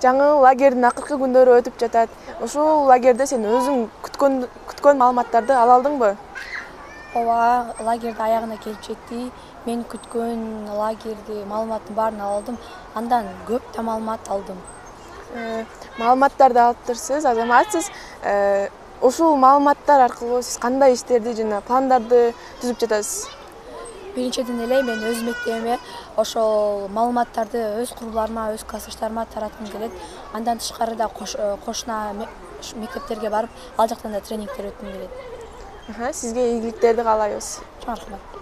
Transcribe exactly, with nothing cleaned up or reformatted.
жаңы лагердин акыркы күндөрү өтүп жатат. Ушул лагерде сен өзүң күткөн күткөн маалыматтарды ала алдыңбы? Ооба, лагерде аягына келип жетти. Мен күткөн лагерди маалыматтын баарын ала алдым. Андан көп да маалымат алдым. Маалыматтарды алыптырсыз, азаматсыз. Ушул маалыматтар аркылуу сиз кандай иштерди жана пландарды түзүп жатасыз? Биринчиден эле мен өз мектебиме ошол маалыматтарды өз курбуларыма, өз классташтарыма тараткым келет. Андан тышкары да кошуна мектептерге барып, ал жактан да тренингдер өткүм келет. Сизге ийгиликтерди каалайбыз. Чоң рахмат.